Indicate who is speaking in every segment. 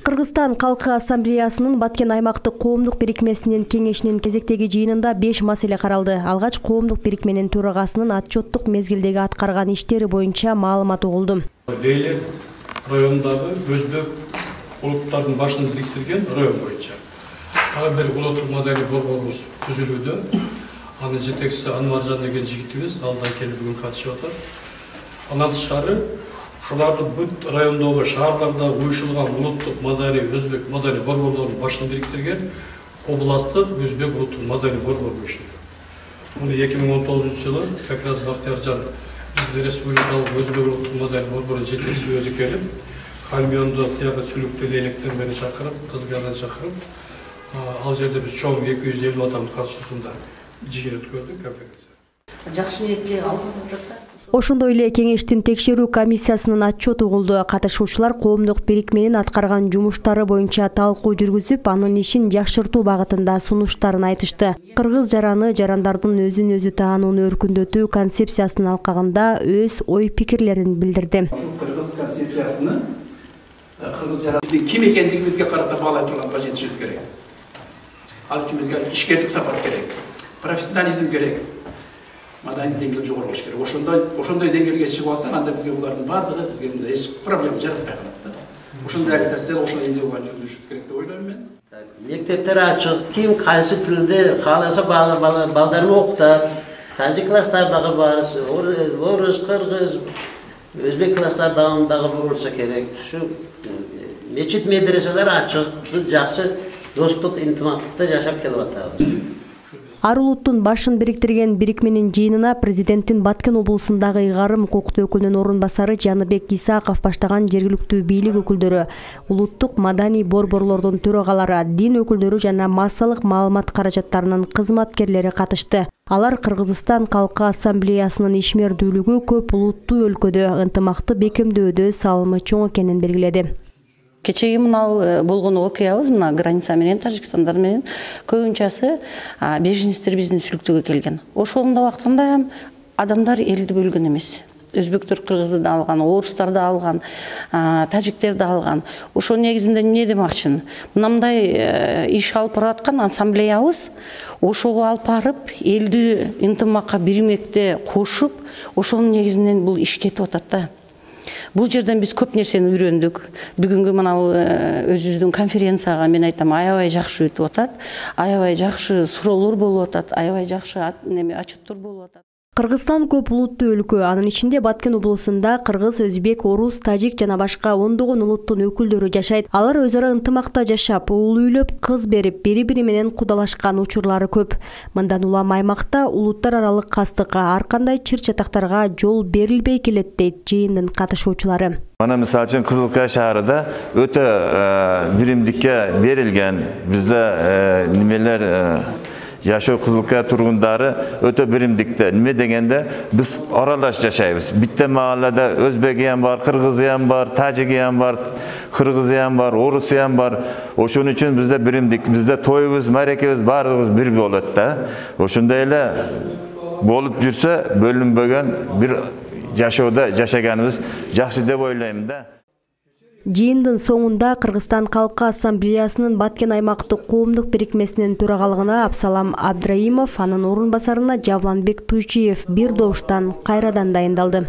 Speaker 1: Кыргызстан Калкы Ассамблеясынын Баткен аймактык коомдук бирикмесинин кеңешинин кезектеги жыйынында 5 маселе каралды. Алгач коомдук бирикменин төрагасынын отчеттук мезгилдеги аткарган иштери боюнча маалымат угулду.
Speaker 2: Бейлек районундагы өзбек улуттардын башын бириктирген район боюнча ага бир улуттук модели борборубуз түзүлүүдө. Анын жетекчиси Анваржан деген жигитибиз алдан келип бүгүн катышып атат. Андан тышкары ушулардын бүт райондогу шаарларда уюшулган улуттук модели өзбек модели борборлорунун башын бириктирген областтык өзбек улуттук модели борбор уюштурду. Муну 2019-жылы как раз Бактияржан биздин республикалык өзбек улуттук модель борбору жетекчиси өзү келип, Хамионду тияга сүлүктүү электер менен чакырып, кызгардан чакырып, ал жерде биз чоң 250 адам катышуусунда жыйын өткөрдүк конференция.
Speaker 3: Жакшы ниетке алып атат.
Speaker 1: Ошондой эле кеңештин текшерүү комиссиясынын отчету угулду. Катышуучулар коомдук бирикменин аткарган жумуштары боюнча талкуу жүргүзүп, анын ишин жакшыртуу багытында сунуштарын айтышты. Кыргыз жараны жарандардын өзүн өзү таанууну өркүндөтүү концепциясынын алкагында өз ой пикирлерин билдирди.
Speaker 4: Кыргыз концепциясыны кыргыз жарандын ким экендигибизге карата баалай турганга жетишибиз керек. Ал үчүн бизге ишкердик сапат керек, профессионализм керек. Маданий деңгээли жогору болуш керек. Ошондой деңгээлге чыгып алсак, анда бизге булардын бардыгы бизге мындай эч проблема жаратпай калат. Ошондой агитация, ошондой идея жүргүзүш керек деп ойлойм мен.
Speaker 5: Мектептер ачык, ким кайсы тилде кааласа балдарын окутат. Тажик класстардагы бар, орус, кыргыз, өзбек класстардагы болсо керек. Ушу мечит медреселер ачык, биз жакшы достук, интимактыкта жашап келип атабыз.
Speaker 1: Ар улуттун башын бириктирген бирикменин жыйынына президенттин Баткен облусундагы ыйгарым укуктуу өкүлүнүн орун басары Жаныбек Исаков баштаган жергиликтүү бийлик өкүлдөрү, улуттук маданий борборлордун төрагалары, дин өкүлдөрү жана массалык маалымат каражаттарынын кызматкерлери катышты. Алар Кыргызстан Калкы Ассамблеясынын ишмердүүлүгү көп улуттуу өлкөдө ынтымакты бекемдөөдө салымы чоң экенин белгиледи.
Speaker 3: Кечеги мына болгон окуябыз, мына граница менен Тажикстандар менен көбүнчөсү беженецтер биздин сүлүктөгө келген. Ошондо убактында адамдар элди бөлгөн эмес. Өзбектер кыргызды да алган, орустар да алган, тажиктер да алган. Ошо негизинде эмне демакчымын? Мындай иш алып бараткан ассамблеябыз ошого алып барып, элди ынтымакка бирмекте кошуп, ошонун негизинен бул иш кетип атат да. Бул жерден биз көп нерсени үйрөндүк. Бүгүнгү мына өзүбүздүн конференцияга мен айтам, аябай жакшы өтүп атат, аябай жакшы суроолор болуп атат, аябай жакшы отчеттор болуп атат.
Speaker 1: Кыргызстан көп улуттуу өлкө, анын ичинде Баткен облусунда кыргыз, өзбек, орус, тажик жана башка ондогон улуттун өкүлдөрү жашайт. Алар өз ара ынтымакта жашап, уул үйлөп, кыз берип, бири-бири менен кудалашкан учурлары көп. Мындан улам аймакта улуттар аралык кастыкка, ар кандай чыр-чатактарга жол берилбей келет дейт жыйындын катышуучулары.
Speaker 6: Мана мисалы үчүн Кызылкая шаарында өтө биримдикке берилген. Бизде немелер жашоо Кызылкая тургундары өтө биримдикте. Неме дегенде биз аралаш жашайбыз. Битте маалада өзбеги ham бар, кыргызы ham бар, тажиги ham бар, кыргызы ham бар, орусу ham бар. Ошон үчүн бизде биримдик, бизде тоюбуз, марекебиз баардыгыбыз бир болот да. Ошондой эле болуп жүрсө, бөлүнбөгөн бир жашоодо жашаганыбыз жакшы деп ойлойм да.
Speaker 1: Жыйындын соңунда Кыргызстан Калкы Ассамблеясынын Баткен аймактык коомдук бирикмесинин төрагалыгына Абсалам Абдраимов, анын орун басарына Жавланбек Туйчиев бир добуштан кайрадан дайындалды.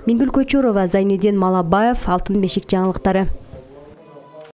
Speaker 1: Мингүл Көчөрова, Зайниддин Малабаев, Алтын бешик жаңылыктары.